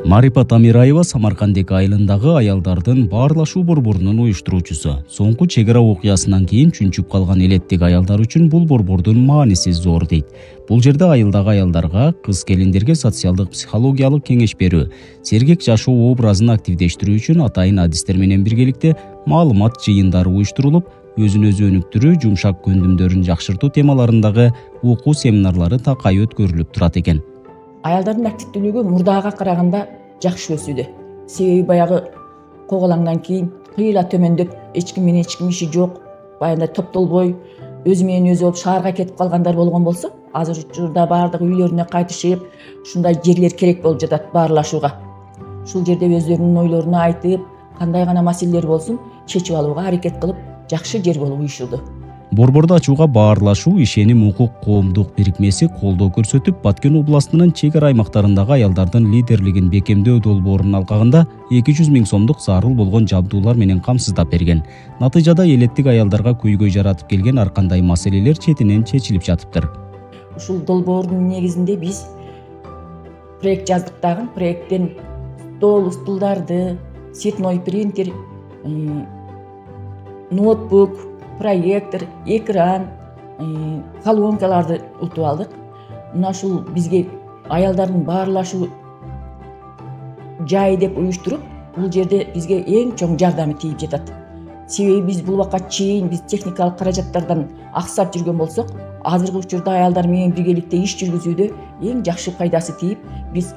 Марипа Тамираева Самаркандек айылындагы аялдардын баарлашуу борборунун уюштуруучусу. Соңку чек ара окуясынан кийин чүнчүп калган элеттик аялдар үчүн бул борбордун мааниси зор дейт. Бул жерде айылдагы аялдарга, кыз келиндерге социалдык психологиялык кеңеш берүү, сергек жашоо образын активдештирүү үчүн атайын адистер менен биргеликте маалымат жыйындары уюштурулуп, өзүн өзү өнүктүрүү, жумшак көндүмдөрүн жакшыртуу темаларындагы окуу семинарлары такай өткөрүлүп турат экен. Аялдардын активдүүлүгү мурдага караганда жакшы өсүүдө. Себеби баягы коголаңдан кийин кыйла төмөндөп, эч ким менен эч ким иши жок, баягындай топтолбой, өзү менен өзү болуп шаарга кетип калгандар болгон болсо, азыр учурда баардыгы үйлөрүнө кайтышып, ушундай жерлер керек болуп жатат баарлашууга. Ушул жерде өздөрүнүн ойлоруну айтып, кандай гана маселелер болсун, чечип алууга аракет кылып, жакшы жер болуп уюшулду. Борборду ачууга баарлашуу ишеним укук коомдук бирикмеси колдоо көрсөтүп, Баткен областынын чек ара аймактарындагы аялдардын лидерлигин бекемдөө долбоорунун алкагында 200 000 сомдук зарыл болгон жабдуулар менен камсыздап берген. Натыйжада элеттик аялдарга көйгөй жаратып келген ар кандай маселелер четинен чечилип жатыптыр. Ушул долбоордун негизинде биз проект жаздык дагы. Проекттен стулдарды, цветной принтер, ноутбук, проектор, экран, колонкаларды утуп алдык. Мына ушул бизге аялдардын баарлашуу жайы деп уюштуруп, бул жерде бизге эң чоң жардамы тийип жатат. Себеби биз бул убакка чейин биз техникалык каражаттардан аксап жүргөн болсок, азыркы учурда аялдар менен биргеликте иш жүргүзүүдө эң жакшы пайдасы тийип, биз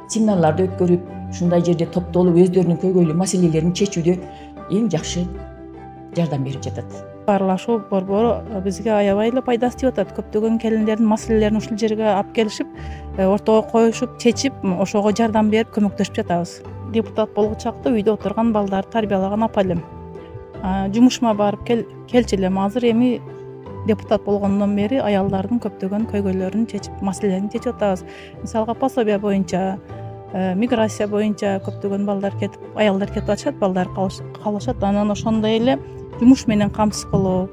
семинарларды өткөрүп, ушундай жерде топтолуп өздөрүнүн көйгөйлүү маселелерин чечүүдө эң жакшы жардам берип жатат. Баарлашуу борбору бизге аябай эле пайдасы тийип атат. Көптөгөн келиндердин маселелерин ушул жерге алып келишип, ортого коюшуп, чечип, ошого жардам берип, көмөктөшүп жатабыз. Депутат болгучакта үйдө отурган балдарды тарбиялаган апа элем. Жумушума барып келчү элем. Азыр эми депутат болгондон бери аялдардын көптөгөн көйгөйлөрүн чечип, маселелерин чечип атабыз. Мисалга пособия боюнча, миграция боюнча көптөгөн балдар кетип, аялдар кетип атышат, балдар калышат. Анан ошондой эле жумуш менен камсыз кылуу,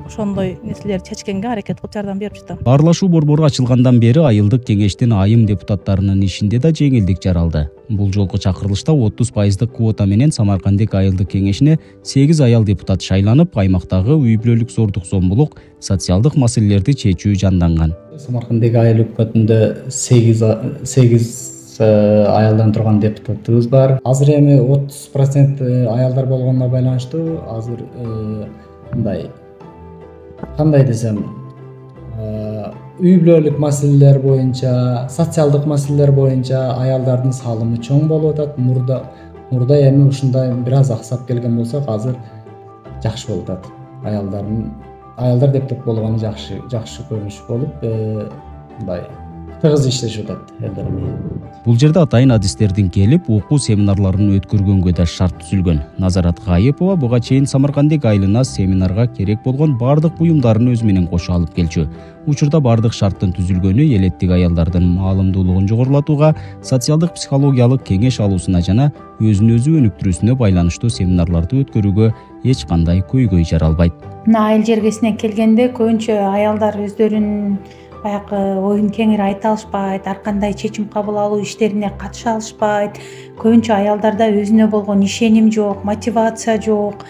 ошондой нерселерди чечкенге аракет кылып жардам берип жатам. Баарлашуу борбору ачылгандан бери айылдык кеңештин айым депутаттарынын ишинде да жеңилдик жаралды. Бул жолку чакырылышта 30% квота менен Самаркандек айылдык кеңешине 8 аял депутат шайланып, аймактагы үй бүлөлүк зордук зомбулук, социалдык маселелерди чечүү жанданган. Самаркандек айыл өкмөтүндө 8 аялдан турган депутатыбыз бар. Азыр эми 30% аялдар болгонуна байланыштуу азыр мындай кандай десем, үй бүлөлүк маселелер боюнча, социалдык маселелер боюнча аялдардын салымы чоң болуп атат. Мурда эми ушундай бир аз аксап келген болсок, азыр жакшы болуп атат. Аялдар депутат болгону жакшы көрүнүш болуп, мындай тыгыз иштешип атат элдер менен. Бул жерде атайын адистердин келип, окуу семинарларын өткөргөнгө да шарт түзүлгөн. Назарат Кайыпова буга чейин Самаркандек айылына семинарга керек болгон бардык буюмдарын өзү менен кошо алып келчү. Учурда бардык шарттын түзүлгөнү элеттик аялдардын маалымдуулугун жогорулатууга, социалдык психологиялык кеңеш алуусуна жана өзүн өзү өнүктүрүүсүнө байланыштуу семинарларды өткөрүүгө эч кандай көйгөй жаралбайт. Мына айыл жергесине келгенде көбүнчө аялдар өздөрүнүн баягы оюн кеңири айта алышпайт, ар кандай чечим кабыл алуу иштерине катыша алышпайт. Көбүнчө аялдарда өзүнө болгон ишеним жок, мотивация жок.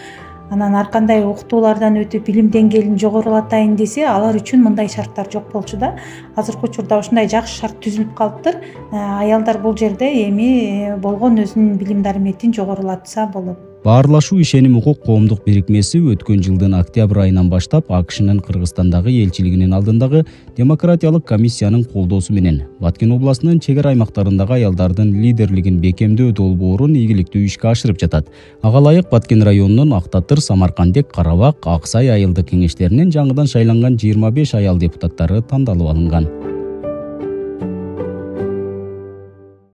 Анан ар кандай окутуулардан өтүп, билим деңгээлин жогорулатайын десе, алар үчүн мындай шарттар жок болчу да. Азыркы учурда ушундай жакшы шарт түзүлүп калыптыр. Аялдар бул жерде эми болгон өзүнүн билим дараметин жогорулатса болот. Баарлашуу ишеним укук коомдук бирикмеси өткөн жылдын октябрь айынан баштап АКШнын Кыргызстандагы элчилигинин алдындагы демократиялык комиссиянын колдоосу менен Баткен областынын чек ара аймактарындагы аялдардын лидерлигин бекемдөө долбоорун ийгиликтүү ишке ашырып жатат. Ага ылайык Баткен районунун Актатыр, Самаркандек, Карабак, Аксай айылдык кеңештеринин жаңыдан шайланган 25 аял депутаттары тандалып алынган.